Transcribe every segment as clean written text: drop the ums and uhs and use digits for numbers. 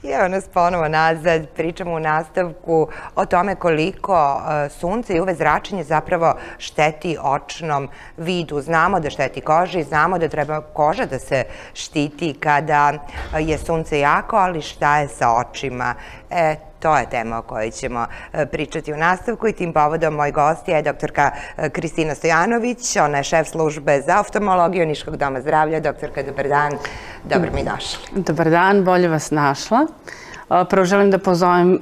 I evo nas ponovo nazad, pričamo u nastavku o tome koliko sunce i UV zračenje zapravo šteti očnom vidu. Znamo da šteti koži, znamo da treba koža da se štiti kada je sunce jako, ali šta je sa očima? To je tema o kojoj ćemo pričati u nastavku i tim povodom moj gost je doktorka Kristina Stojanović. Ona je šef službe za oftalmologiju Niškog doma zdravlja. Doktorka, dobar dan. Dobro mi došli. Dobar dan, bolje vas našla. Prvo želim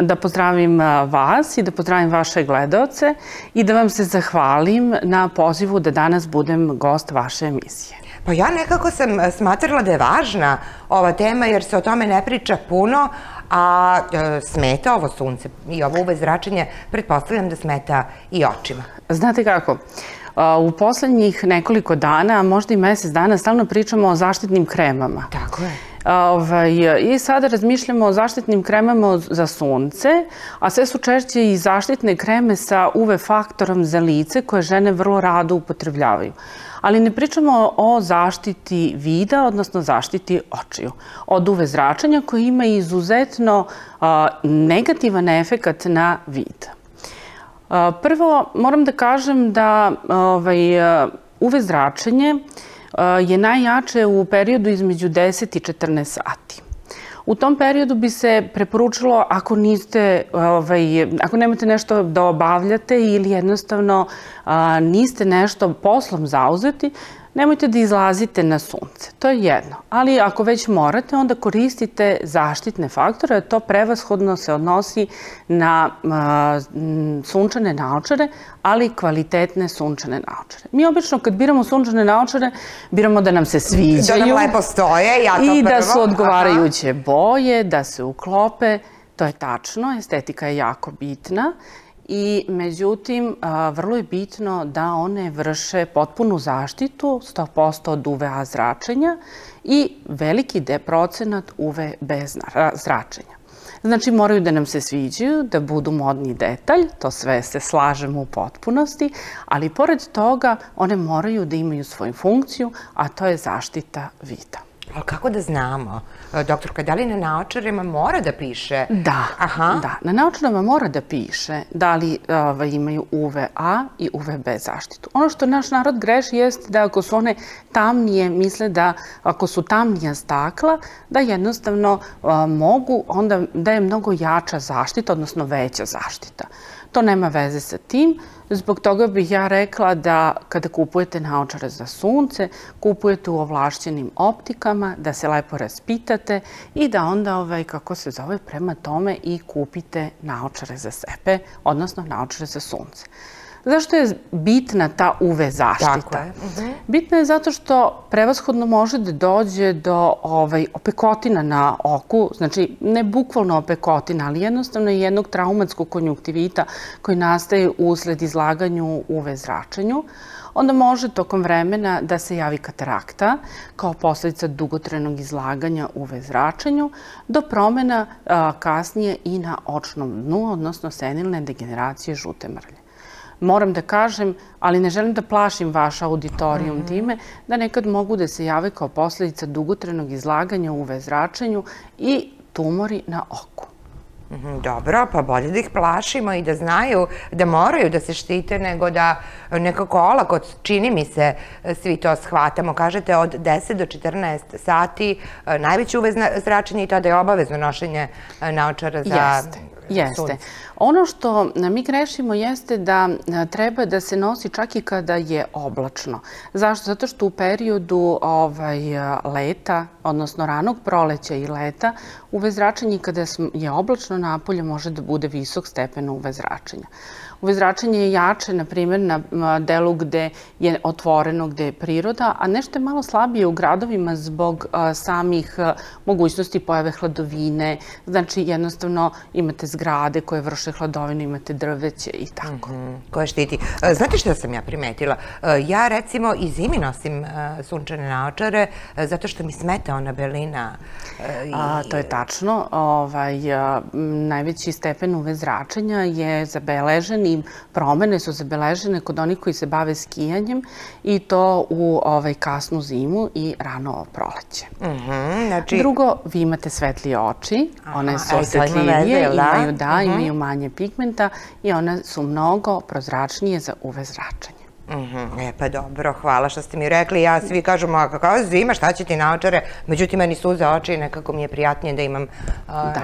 da pozdravim vas i da pozdravim vaše gledaoce i da vam se zahvalim na pozivu da danas budem gost vaše emisije. Pa ja nekako sam smatrala da je važna ova tema jer se o tome ne priča puno, a smeta ovo sunce i ovo UV zračenje, pretpostavljam da smeta i očima. Znate kako, u poslednjih nekoliko dana, a možda i mesec dana, stalno pričamo o zaštitnim kremama. Tako je. I sada razmišljamo o zaštitnim kremama za sunce, a sve su češće i zaštitne kreme sa UV faktorom za lice koje žene vrlo rado upotrebljavaju. Ali ne pričamo o zaštiti vida, odnosno zaštiti očiju od UV zračenja koji ima izuzetno negativan efekat na vid. Prvo, moram da kažem da UV zračenje je najjače u periodu između 10 i 14 sati. U tom periodu bi se preporučilo ako nemate nešto da obavljate ili jednostavno niste nešto poslom zauzeti, nemojte da izlazite na sunce. To je jedno. Ali ako već morate, onda koristite zaštitne faktore. To prevashodno se odnosi na sunčane naočare, ali kvalitetne sunčane naočare. Mi obično kad biramo sunčane naočare, biramo da nam se sviđaju. Da nam lepo stoje, ja to prvo. I da su odgovarajuće boje, da se uklope. To je tačno, estetika je jako bitna. I međutim, vrlo je bitno da one vrše potpunu zaštitu, 100% od UVA zračenja i veliki procenat UVB zračenja. Znači, moraju da nam se sviđaju, da budu modni detalj, to sve se slažemo u potpunosti, ali pored toga one moraju da imaju svoju funkciju, a to je zaštita vida. Ali kako da znamo, doktorka, da li na naočarima mora da piše? Da, na naočarima mora da piše da li imaju UVA i UVB zaštitu. Ono što naš narod greši jeste da ako su one tamnije, misle da ako su tamnija stakla, da jednostavno mogu, onda da je mnogo jača zaštita, odnosno veća zaštita. To nema veze sa tim. Zbog toga bih ja rekla da kada kupujete naočare za sunce, kupujete u ovlašćenim optikama, da se lepo raspitate i da onda, prema tome i kupite naočare za sebe, odnosno naočare za sunce. Zašto je bitna ta UV zaštita? Bitna je zato što prevashodno može da dođe do opekotina na oku, znači ne bukvalno opekotina, ali jednostavno je jednog traumatskog konjunktivita koji nastaje usled izlaganju UV zračenju. Onda može tokom vremena da se javi katarakta kao posledica dugotrajnog izlaganja UV zračenju do promena kasnije i na očnom dnu, odnosno senilne degeneracije žute mrlje. Moram da kažem, ali ne želim da plašim vaš auditorijum time, da nekad mogu da se jave kao posledica dugotrajnog izlaganja UV zračenju i tumori na oku. Dobro, pa bolje da ih plašimo i da znaju da moraju da se štite nego da nekako olako, čini mi se, svi to shvatamo. Kažete od 10 do 14 sati najveće UV zračenje i tada je obavezno nošenje naočara za sunce. Jeste. Ono što mi grešimo jeste da treba da se nosi čak i kada je oblačno. Zašto? Zato što u periodu leta, odnosno ranog proleća i leta, UV zračenje kada je oblačno napolje može da bude visok stepen UV zračenja. UV zračenje je jače, na primjer, na delu gde je otvoreno, gde je priroda, a nešto je malo slabije u gradovima zbog samih mogućnosti pojave hladovine. Znači, jednostavno imate zgrade koje vrše hladovinu, imate drveće i tako. Koje štiti. Znate što sam ja primetila? Ja, recimo, i zimi nosim sunčane naočare zato što mi smeta ona belina. To je tačno. Najveći stepen UV zračenja je zabeležen značajnije promene su zabeležene kod onih koji se bave skijanjem i to u kasnu zimu i rano proleće. Drugo, vi imate svetlije oči, one su osvetljivije, imaju manje pigmenta i one su mnogo prozračnije za UV zračenje. Pa dobro, hvala što ste mi rekli. Ja svi kažemo, kako zima, šta će ti naočare? Međutim, meni suze oči i nekako mi je prijatnije da imam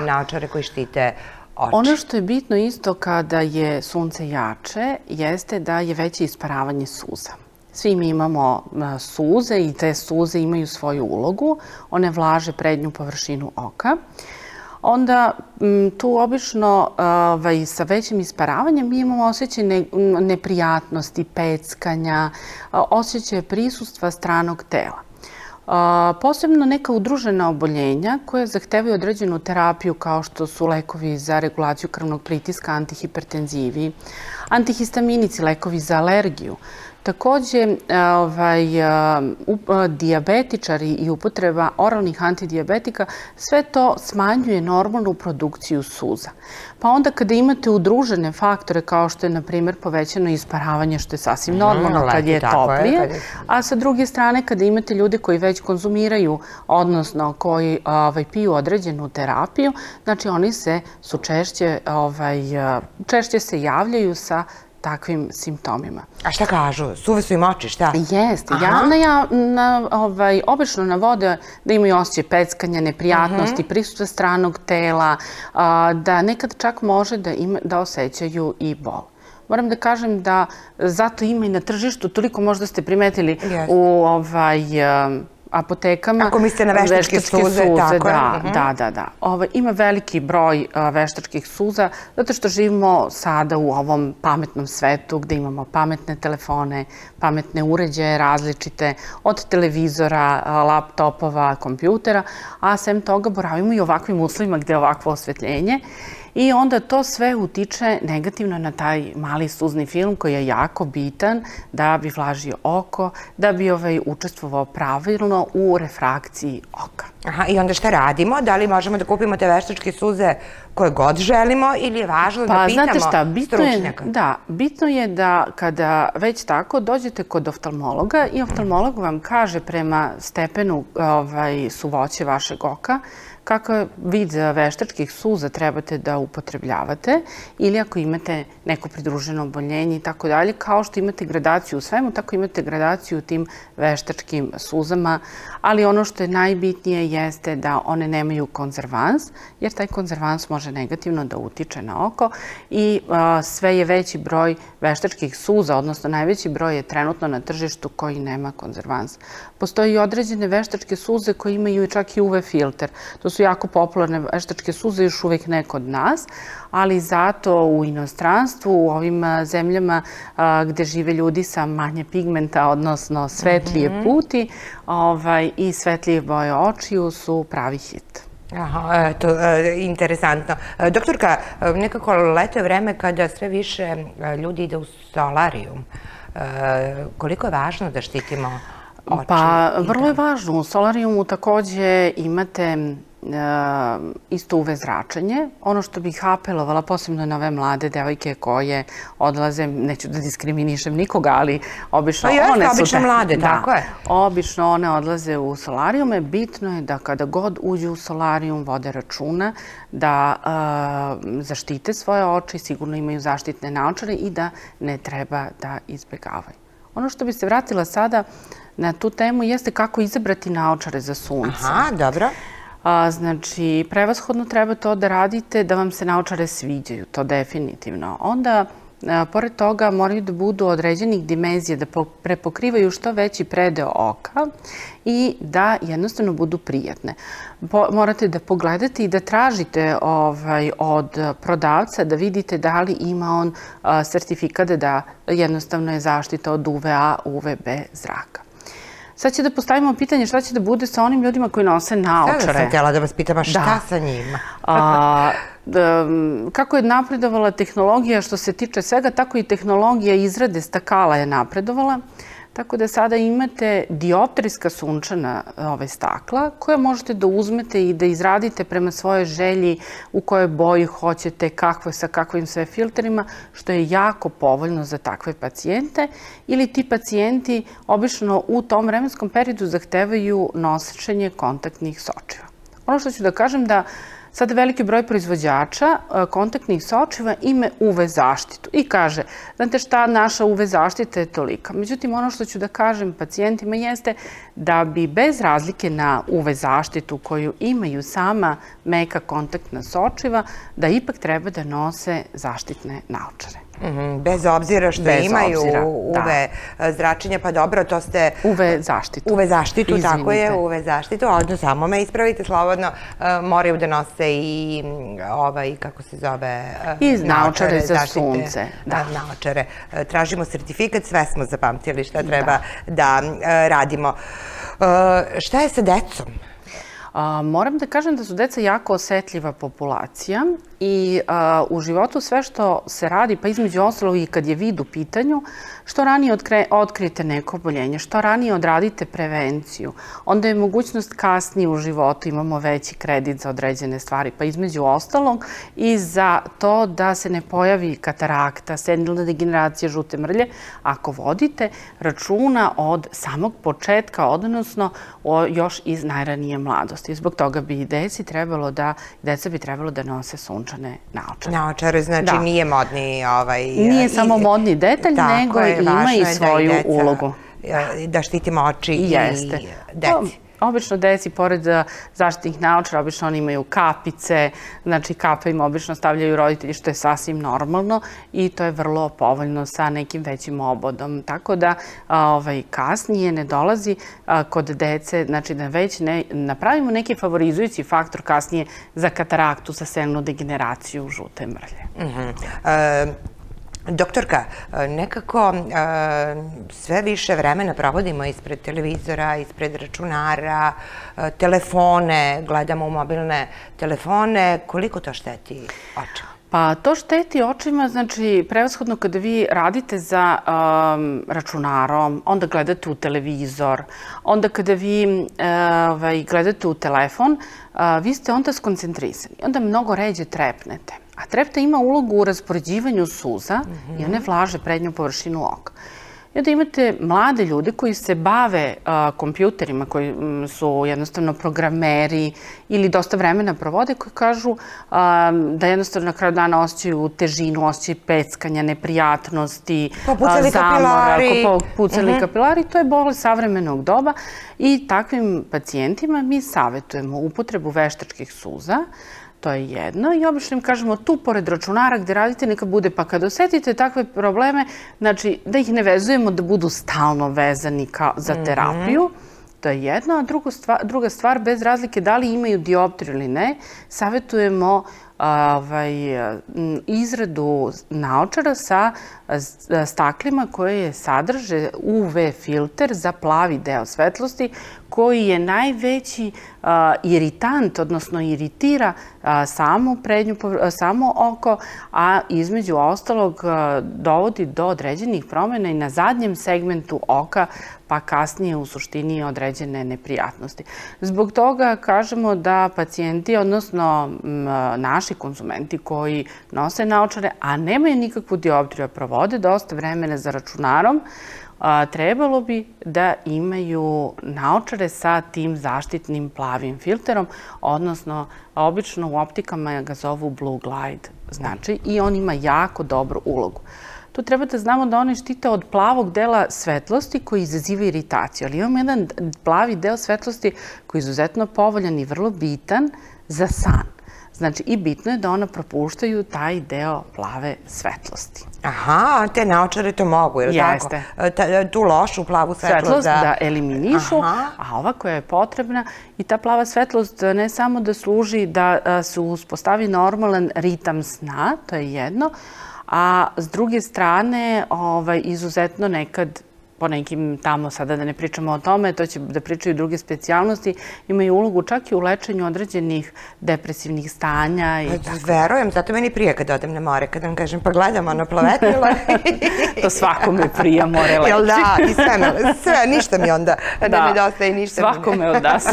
naočare koji štite oči. Ono što je bitno isto kada je sunce jače jeste da je veće isparavanje suza. Svi mi imamo suze i te suze imaju svoju ulogu. One vlaže prednju površinu oka. Onda tu obično sa većim isparavanjem mi imamo osjećaj neprijatnosti, peckanja, osjećaj prisustva stranog tela. Posebno neka udružena oboljenja koje zahtevaju određenu terapiju kao što su lekovi za regulaciju krvnog pritiska, antihipertenzivi, antihistaminici, lekovi za alergiju. Takođe, dijabetičari i upotreba oralnih antidijabetika, sve to smanjuje normalnu produkciju suza. Pa onda kada imate udružene faktore kao što je, na primjer, povećano isparavanje, što je sasvim normalno kad je toplije, a sa druge strane kada imate ljude koji već konzumiraju, odnosno koji piju određenu terapiju, znači oni su češće se javljaju sa takvim simptomima. A šta kažu? Suve su im oči, šta? Jeste. Obično navode da imaju osjećaj peckanja, neprijatnosti, prisustva stranog tela, da nekad čak može da osjećaju i bol. Moram da kažem da zato ima i na tržištu, toliko možda ste primetili u apotekama. Ako mislite na veštačke suze, tako je. Da. Ima veliki broj veštačkih suza, zato što živimo sada u ovom pametnom svetu gde imamo pametne telefone, pametne uređaje različite, od televizora, laptopova, kompjutera, a sem toga boravimo i u ovakvim uslovima gde je ovakvo osvetljenje. I onda to sve utiče negativno na taj mali suzni film koji je jako bitan da bi vlažio oko, da bi učestvovao pravilno u refrakciji oka. I onda šta radimo? Da li možemo da kupimo te veštačke suze koje god želimo ili je važno da pitamo stručnjaka? Da, bitno je da kada već tako dođete kod oftalmologa i oftalmolog vam kaže prema stepenu suvoće vašeg oka kakav vid veštačkih suza trebate da upotrebljavate ili ako imate neko pridruženo oboljenje i tako dalje, kao što imate gradaciju u svemu, tako imate gradaciju u tim veštačkim suzama, ali ono što je najbitnije jeste da one nemaju konzervans, jer taj konzervans može negativno da utiče na oko i sve je veći broj veštačkih suza, odnosno najveći broj je trenutno na tržištu koji nema konzervans. Postoji i određene veštačke suze koje imaju čak i UV filter. To su jako popularne veštačke suze, još uvek ne kod nas, ali zato u inostranstvu, u ovim zemljama gde žive ljudi sa manje pigmenta, odnosno svetlije puti i svetlije boje očiju su pravi hit. Aha, to je interesantno. Doktorka, nekako leto je vreme kada sve više ljudi ide u solarijum. Koliko je važno da štitimo oči? Pa, vrlo je važno. U solarijumu takođe imate isto UV zračenje. Ono što bih apelovala, posebno na ove mlade devojke koje odlaze, neću da diskriminišem nikoga, ali obično one su... Obično mlade, tako je. Obično one odlaze u solarijume. Bitno je da kada god uđu u solarijum vode računa da zaštite svoje oči, sigurno imaju zaštitne naočare i da ne treba da izbegavaju. Ono što bi se vratila sada na tu temu jeste kako izabrati naočare za sunce. Aha, dobro. Znači, prevashodno treba to da radite da vam se naočare sviđaju, to definitivno. Onda, pored toga, moraju da budu određenih dimenzija, da prepokrivaju što veći predeo oka i da jednostavno budu prijatne. Morate da pogledate i da tražite od prodavca da vidite da li ima on sertifikat da jednostavno je zaštita od UVA, UVB zraka. Sad će da postavimo pitanje šta će da bude sa onim ljudima koji nose naočare. Sada sam htjela da vas pitam, a šta sa njima? Kako je napredovala tehnologija što se tiče svega, tako i tehnologija izrade stakala je napredovala. Tako da sada imate dioptrijska sunčana stakla koja možete da uzmete i da izradite prema svojoj želji u kojoj boji hoćete, sa kakvim sve filterima, što je jako povoljno za takve pacijente. Ili ti pacijenti obično u tom vremenskom periodu zahtevaju nošenje kontaktnih sočiva. Ono što ću da kažem da sada veliki broj proizvođača kontaktnih sočiva ima UV zaštitu i kaže, znate šta, naša UV zaštita je tolika. Međutim, ono što ću da kažem pacijentima jeste da bi bez razlike na UV zaštitu koju imaju sama meka kontaktna sočiva, da ipak treba da nose zaštitne naočare. Bez obzira što imaju UV zračenja, pa dobro, to ste... UV zaštitu. UV zaštitu, tako je, UV zaštitu, odnosno samo me ispravite slobodno, moraju da nose i kako se zove... I naočare za sunce. Naočare. Tražimo sertifikat, sve smo zapamtili šta treba da radimo. Šta je sa decom? Moram da kažem da su deca jako osetljiva populacija i u životu sve što se radi, pa između ostalog i kad je vid u pitanju, što ranije otkrijete neko oboljenje, što ranije odradite prevenciju, onda je mogućnost kasnije u životu, imamo veći kredit za određene stvari, pa između ostalog i za to da se ne pojavi katarakta, senilna degeneracija, žute mrlje, ako vodite računa od samog početka, odnosno još iz najranije mladosti. Zbog toga bi deca bi trebalo da nose sunčane naočare. Naočare, znači nije modni... Nije samo modni detalj, nego ima i svoju ulogu. Da štitimo oči i deci. Obično deci, pored zaštitnih naočara, obično oni imaju kapice, znači kape im obično stavljaju roditelji, što je sasvim normalno i to je vrlo povoljno sa nekim većim obodom. Tako da kasnije ne dolazi kod dece, znači da već ne napravimo neki favorizujući faktor kasnije za kataraktu, za senilnu degeneraciju, žute mrlje. Doktorka, nekako sve više vremena provodimo ispred televizora, ispred računara, telefone, gledamo u mobilne telefone. Koliko to šteti očima? Pa to šteti očima, znači prevashodno kada vi radite za računarom, onda gledate u televizor, onda kada vi gledate u telefon, vi ste onda skoncentrisani, onda mnogo ređe trepnete. A trepta ima ulogu u raspoređivanju suza i one vlaže prednju površinu oka. I onda imate mlade ljude koji se bave kompjuterima, koji su jednostavno programeri ili dosta vremena provode, koji kažu da jednostavno na kraju dana osjećaju težinu, osjećaju peckanja, neprijatnosti, zamora, popucali kapilari. To je bolest savremenog doba i takvim pacijentima mi savjetujemo upotrebu veštačkih suza. To je jedno i obično im kažemo tu pored računara gde radite neka bude, pa kad osetite takve probleme, znači da ih ne vezujemo da budu stalno vezani za terapiju, to je jedno, a druga stvar, bez razlike da li imaju dioptriju ili ne, savjetujemo izradu naočara sa staklima koje sadrže UV filter za plavi deo svetlosti koji je najveći iritant, odnosno iritira samo oko, a između ostalog dovodi do određenih promjena i na zadnjem segmentu oka, pa kasnije u suštini određene neprijatnosti. Zbog toga kažemo da pacijenti, odnosno naši konzumenti koji nose naočare, a nemaju nikakvu dioptriju, provode dosta vremena za računarom, trebalo bi da imaju naočare sa tim zaštitnim plavim filterom, odnosno obično u optikama ga zovu blue glide, znači, i on ima jako dobru ulogu. Tu treba da znamo da one štite od plavog dela svetlosti koji izaziva iritaciju, ali imamo jedan plavi deo svetlosti koji je izuzetno povoljan i vrlo bitan za san. Znači, i bitno je da ona propuštaju taj deo plave svetlosti. Aha, te naočare to mogu, je li tako? Jeste. Tu lošu plavu svetlost da eliminišu, a ova koja je potrebna i ta plava svetlost ne samo da služi da se uspostavi normalan ritam sna, to je jedno, a s druge strane izuzetno nekad po nekim tamo, sada da ne pričamo o tome, to će da pričaju druge specijalnosti, imaju ulogu čak i u lečenju određenih depresivnih stanja. Verujem, zato meni prije kad odem na more, kad vam kažem pa gledam ono plavetilo. To svakome prija more leči. Jel da, i sve, ništa mi onda ne nedostaje i ništa mi ne. Svakome od nas.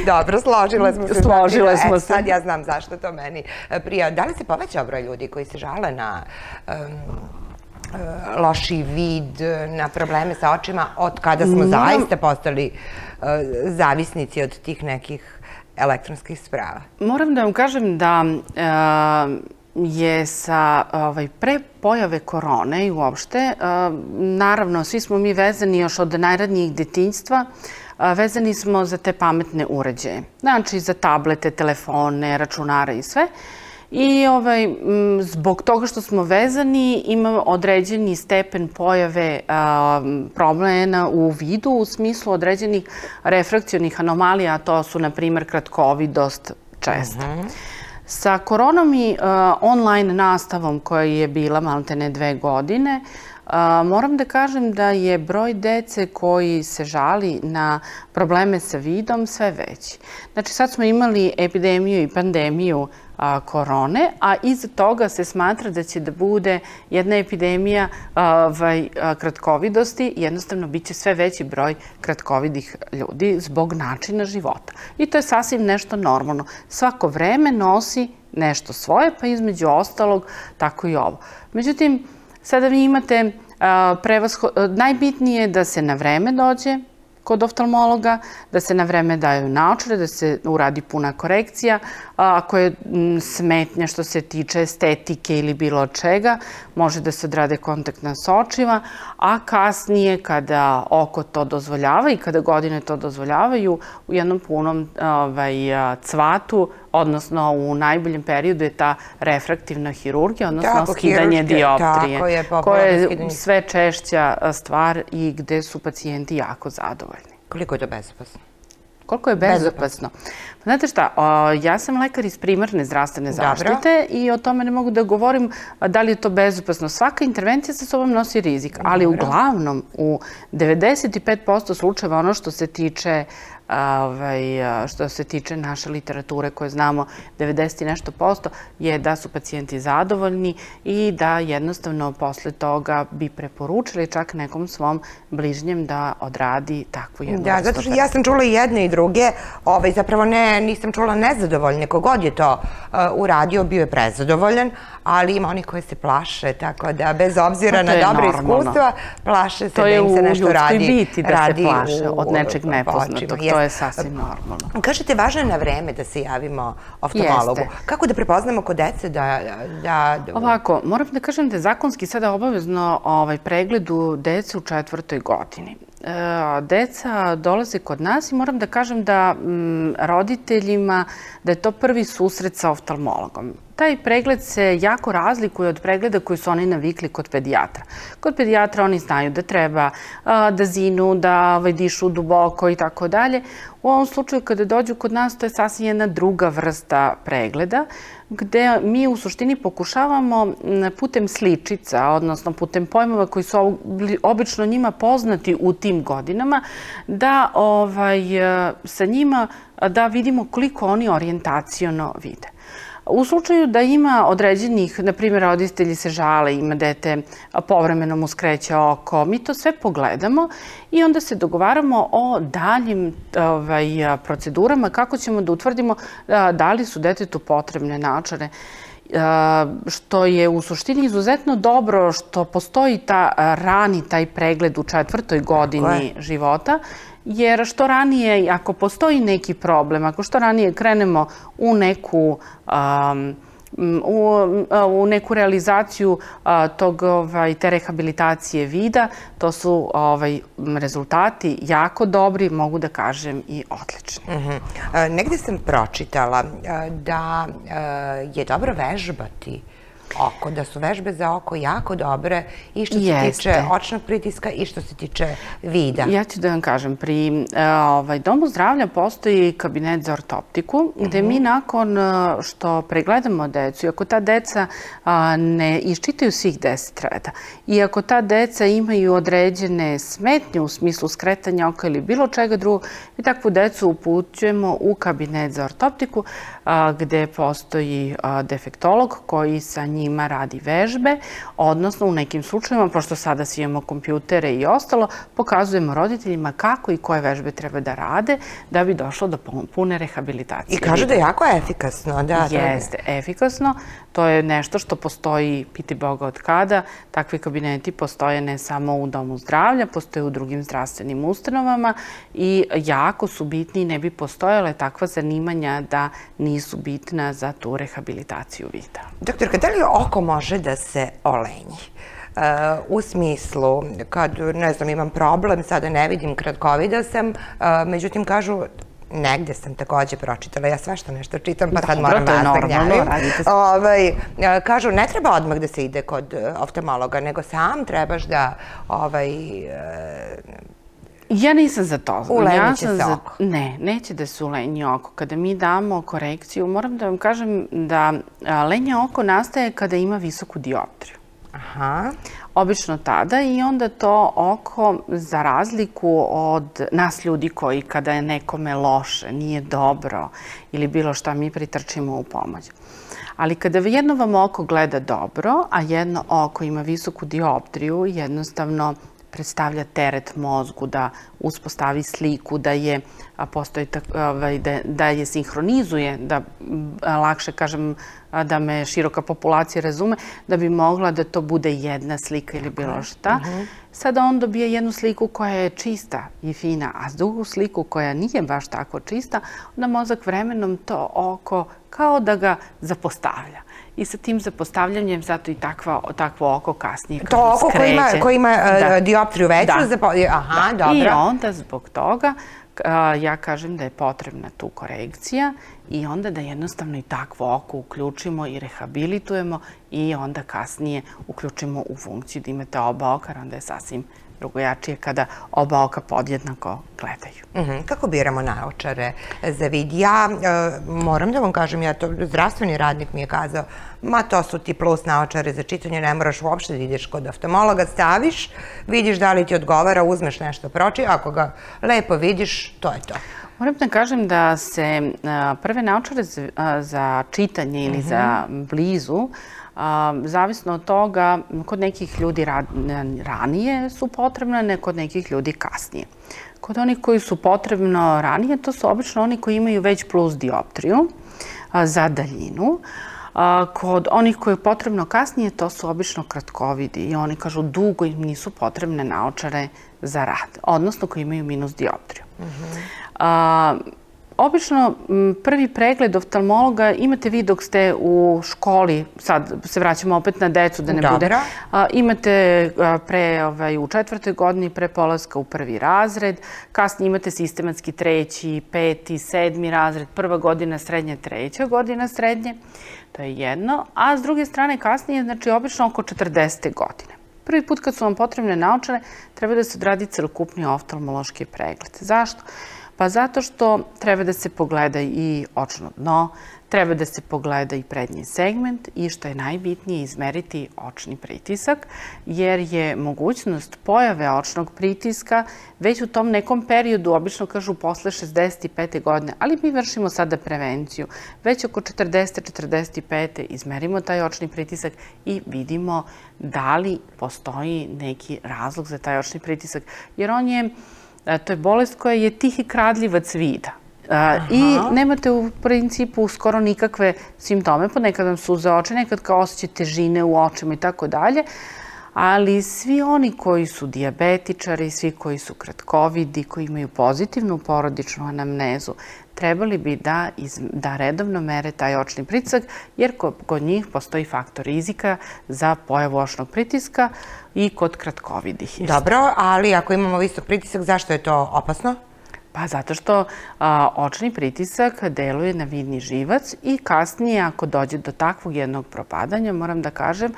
Dobro, složile smo se. Složile smo se. Sad ja znam zašto to meni prija. Da li se povećao broj ljudi koji se žale na loši vid, na probleme sa očima, od kada smo zaista postali zavisnici od tih nekih elektronskih sprava? Moram da vam kažem da je sa pre pojave korone i uopšte, naravno, svi smo mi vezani još od najranijih detinjstva, vezani smo za te pametne uređaje. Znači, za tablete, telefone, računare i sve. I zbog toga što smo vezani imamo određeni stepen pojave problema u vidu u smislu određenih refrakcionih anomalija, a to su, na primjer, kratkovidost česta. Sa koronom i online nastavom koja je bila maltene 2 godine, moram da kažem da je broj dece koji se žali na probleme sa vidom sve veći. Znači, sad smo imali epidemiju i pandemiju korone, a iza toga se smatra da će da bude jedna epidemija kratkovidosti. Jednostavno, bit će sve veći broj kratkovidih ljudi zbog načina života. I to je sasvim nešto normalno. Svako vreme nosi nešto svoje, pa između ostalog tako i ovo. Međutim, sada vi imate najbitnije je da se na vreme dođe kod oftalmologa, da se na vreme daju naočare, da se uradi puna korekcija. Ako je smetnja što se tiče estetike ili bilo čega, može da se odrade kontaktna sočiva, a kasnije kada oko to dozvoljava i kada godine to dozvoljavaju, u jednom punom cvatu, odnosno u najboljem periodu je ta refraktivna hirurgija, odnosno skidanje dioptrije, koja je sve češća stvar i gde su pacijenti jako zadovoljni. Koliko je to bezopasno? Koliko je bezopasno? Znate šta, ja sam lekar iz primarne zdravstvene zaštite i o tome ne mogu da govorim da li je to bezopasno. Svaka intervencija sa sobom nosi rizik, ali uglavnom u 95% slučajeva ono što se tiče naše literature koje znamo 90 i nešto posto je da su pacijenti zadovoljni i da jednostavno posle toga bi preporučili čak nekom svom bližnjem da odradi takvu jednu vrstu operacije. Da, zato što ja sam čula i jedne i druge, zapravo nisam čula nezadovoljne. Kogod je to uradio, bio je prezadovoljan, ali ima onih koji se plaše, tako da bez obzira na dobre iskustva, plaše se da im se nešto radi. To je u ljudskoj biti da se plaše od nečeg nepoznatog. To je sasvim normalno. Kažete, važno je na vreme da se javimo oftalmologu. Kako da prepoznamo kod dece da... Ovako, moram da kažem da je zakonski sada obavezno pregled u dece u 4. godini. Deca dolaze kod nas i moram da kažem da roditeljima da je to prvi susret sa oftalmologom. Taj pregled se jako razlikuje od pregleda koji su oni navikli kod pedijatra. Kod pedijatra oni znaju da treba da zinu, da dišu duboko i tako dalje. U ovom slučaju kada dođu kod nas to je sasvim jedna druga vrsta pregleda gde mi u suštini pokušavamo putem sličica, odnosno putem pojmova koji su obično njima poznati u tim godinama, da sa njima da vidimo koliko oni orijentaciono vide. U slučaju da ima određenih, na primjer, roditelji se žale, ima dete, povremeno mu skreće oko, mi to sve pogledamo i onda se dogovaramo o daljim procedurama kako ćemo da utvrdimo da li su detetu potrebne naočare. Što je u suštini izuzetno dobro što postoji taj pregled u 4. godini života, jer što ranije, ako postoji neki problem, ako što ranije krenemo u neku realizaciju te rehabilitacije vida, to su rezultati jako dobri, mogu da kažem i odlični. Negde sam pročitala da je dobro vežbati oko, da su vežbe za oko jako dobre i što se tiče očnog pritiska i što se tiče vida. Ja ću da vam kažem, pri Domu zdravlja postoji kabinet za ortoptiku, gde mi nakon što pregledamo decu, i ako ta deca ne iščitaju svih 10 reda, i ako ta deca imaju određene smetnje u smislu skretanja oka ili bilo čega drugog, mi takvu decu upućujemo u kabinet za ortoptiku, gde postoji defektolog koji sa njima radi vežbe, odnosno u nekim slučajima, pošto sada svi imamo kompjutere i ostalo, pokazujemo roditeljima kako i koje vežbe treba da rade da bi došlo do pune rehabilitacije. I kažu da je jako efikasno. Jeste, efikasno. To je nešto što postoji, piti Boga od kada. Takvi kabineti postoje ne samo u Domu zdravlja, postoje u drugim zdravstvenim ustanovama i jako su bitni i ne bi postojale takva zanimanja da nisu bitna za tu rehabilitaciju vida. Doktorka, da li oko može da se olenji? U smislu, kad, ne znam, imam problem, sada ne vidim, kratkovida sam, međutim, kažu, negde sam takođe pročitala, ja sve što nešto čitam, pa sad moram vas da gnjavim. Kažu, ne treba odmah da se ide kod oftalmologa, nego sam trebaš da ja nisam za to. Ulenji će se oko. Ne, neće da se ulenji oko. Kada mi damo korekciju, moram da vam kažem da lenje oko nastaje kada ima visoku dioptriju. Aha. Obično tada i onda to oko, za razliku od nas ljudi koji kada je nekome loše, nije dobro ili bilo šta, mi pritrčimo u pomoć. Ali kada jedno vam oko gleda dobro, a jedno oko ima visoku dioptriju, jednostavno predstavlja teret mozgu da uspostavi sliku, da je sinhronizuje, da lakše kažem, da me široka populacija razume, da bi mogla da to bude jedna slika ili bilo šta. Sada on dobije jednu sliku koja je čista i fina, a drugu sliku koja nije baš tako čista, onda mozak vremenom to oko kao da ga zapostavlja. I sa tim zapostavljanjem zato i takvo oko kasnije skreće. To oko koje ima dioptriju veću? Aha, dobro. I onda zbog toga ja kažem da je potrebna tu korekcija i onda da jednostavno i takvo oko uključimo i rehabilitujemo i onda kasnije uključimo u funkciju da imate oba oka, onda je sasvim drugojačije kada oba oka podjednako gledaju. Kako biramo naočare za vid? Ja moram da vam kažem, zdravstveni radnik mi je kazao, ma to su ti plus naočare za čitanje, ne moraš uopšte da ideš kod oftalmologa, staviš, vidiš da li ti odgovara, uzmeš nešto proči, ako ga lepo vidiš, to je to. Moram da kažem da se prve naočare za čitanje ili za blizu, zavisno od toga, kod nekih ljudi ranije su potrebne, kod nekih ljudi kasnije. Kod onih koji su potrebno ranije, to su obično oni koji imaju već plus dioptriju za daljinu. Kod onih koji je potrebno kasnije, to su obično kratkovidi i oni kažu dugo im nisu potrebne naočare za rad, odnosno koji imaju minus dioptriju. Obično prvi pregled oftalmologa imate vi dok ste u školi, sad se vraćamo opet na decu da ne bude, imate u 4. godini pre polaska u 1. razred, kasnije imate sistematski 3., 5., 7. razred, 1. godina srednje, 3. godina srednje, to je jedno, a s druge strane kasnije, znači obično oko 40. godine. Prvi put kad su vam potrebne naočare, treba da se odradi celokupni oftalmološki pregled. Zašto? Pa zato što treba da se pogleda i očno dno, treba da se pogleda i prednji segment i što je najbitnije izmeriti očni pritisak, jer je mogućnost pojave očnog pritiska već u tom nekom periodu, obično kažu posle 65. godine, ali mi vršimo sada prevenciju. Već oko 40-45. izmerimo taj očni pritisak i vidimo da li postoji neki razlog za taj očni pritisak, jer to je bolest koja je tihi kradljivac vida. I nemate u principu skoro nikakve simptome, ponekad vam suze oči, nekad kao osjećate težine u očima i tako dalje, ali svi oni koji su dijabetičari, svi koji su kratkovidi, koji imaju pozitivnu porodičnu anamnezu, trebali bi da redovno mere taj očni pritisak, jer kod njih postoji faktor rizika za pojavu očnog pritiska i kod kratkovidih. Dobro, ali ako imamo visok pritisak, zašto je to opasno? Pa zato što očni pritisak deluje na vidni živac i kasnije ako dođe do takvog jednog propadanja, moram da kažem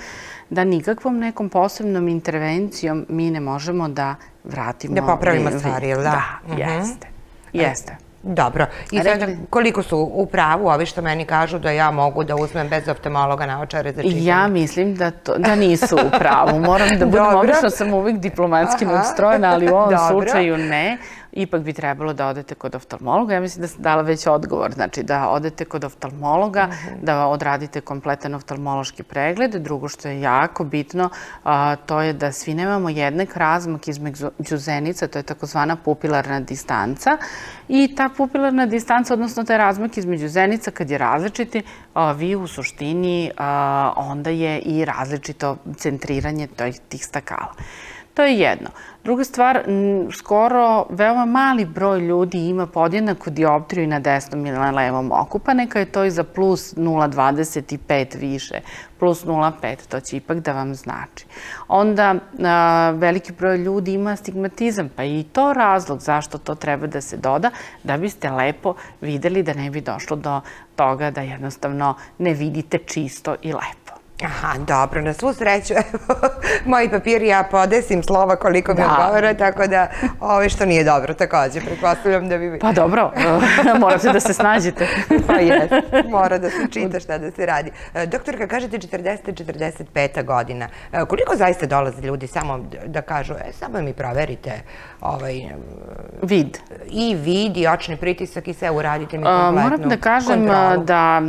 da nikakvom nekom posebnom intervencijom mi ne možemo da vratimo vid. Da popravimo stvari, ili da? Da, jeste. Jeste. Dobro. I sada koliko su u pravu ovi što meni kažu da ja mogu da uzmem bez oftalmologa naočare za čitanje? Ja mislim da nisu u pravu. Moram da budem, obično sam uvijek diplomatski nastrojena, ali u ovom slučaju ne. Ipak bi trebalo da odete kod oftalmologa. Ja mislim da sam dala već odgovor. Znači da odete kod oftalmologa, da odradite kompletan oftalmološki pregled. Drugo što je jako bitno, to je da svi nemamo jednak razmak između zenica, to je takozvana pupilarna distanca. I ta pupilarna distanca, odnosno taj razmak između zenica, kad je različiti, vi u suštini onda je i različito centriranje tih stakala. To je jedno. Druga stvar, skoro veoma mali broj ljudi ima podjednaku dioptriju i na desnom i na levom oku, pa neka je to i za plus 0,25 više, plus 0,5, to će ipak da vam znači. Onda veliki broj ljudi ima astigmatizam, pa i to razlog zašto to treba da se doda, da biste lepo videli da ne bi došlo do toga da jednostavno ne vidite čisto i lepo. Aha, dobro, na svu sreću, evo, moji papiri ja podesim slova koliko mi odgovara, tako da ovo što nije dobro, također, pretpostavljam da bi... Pa dobro, morate da se snađete. Pa jes, mora da se čita šta da se radi. Doktorka, kažete 40-45 godina, koliko zaista dolaze ljudi samo da kažu, samo mi proverite vid. I vid, i očni pritisak i sve uradite mi kompletnu kontrolu. Moram da kažem da...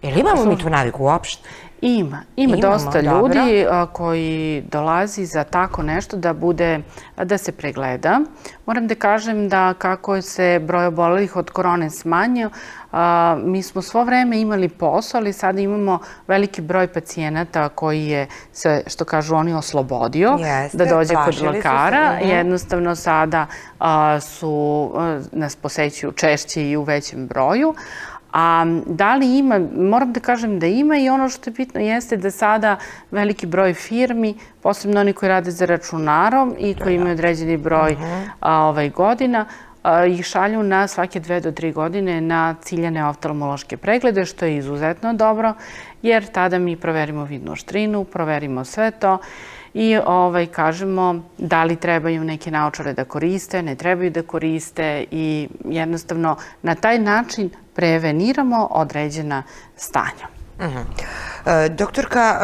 Jel imamo mi tu naviku uopšte? Ima dosta ljudi koji dolazi za tako nešto da se pregleda. Moram da kažem da kako se broj obolelih od korone smanjio, mi smo svo vreme imali posao, ali sada imamo veliki broj pacijenata koji je se, što kažu oni, oslobodio da dođe kod lekara. Jednostavno sada nas posećuju češće i u većem broju. A da li ima, moram da kažem da ima i ono što je bitno jeste da sada veliki broj firmi, posebno oni koji rade za računarom i koji imaju određeni broj godina, ih šalju na svake 2 do 3 godine na ciljane oftalmološke preglede, što je izuzetno dobro, jer tada mi proverimo vidnu oštrinu, proverimo sve to i kažemo da li trebaju neke naočare da koriste, ne trebaju da koriste i jednostavno na taj način preveniramo određena stanja. Doktorka,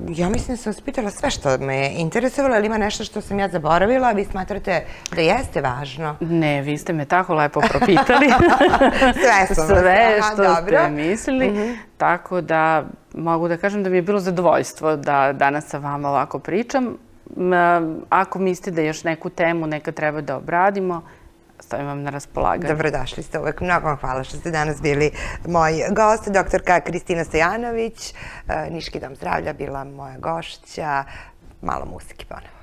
ja mislim da sam vas pitala sve što me je interesovalo, ali ima nešto što sam ja zaboravila, a vi smatrate da jeste važno? Ne, vi ste me tako lepo propitali. Sve što ste mislili. Tako da mogu da kažem da mi je bilo zadovoljstvo da danas sa vama ovako pričam. Ako mislite da još neku temu neka treba da obradimo, stavim vam na raspolaganje. Dobrodošli ste uvek. Mnogo vam hvala što ste danas bili moj gost. Doktorka Kristina Stojanović, Niški dom zdravlja, bila moja gošća. Malo muzike ponovo.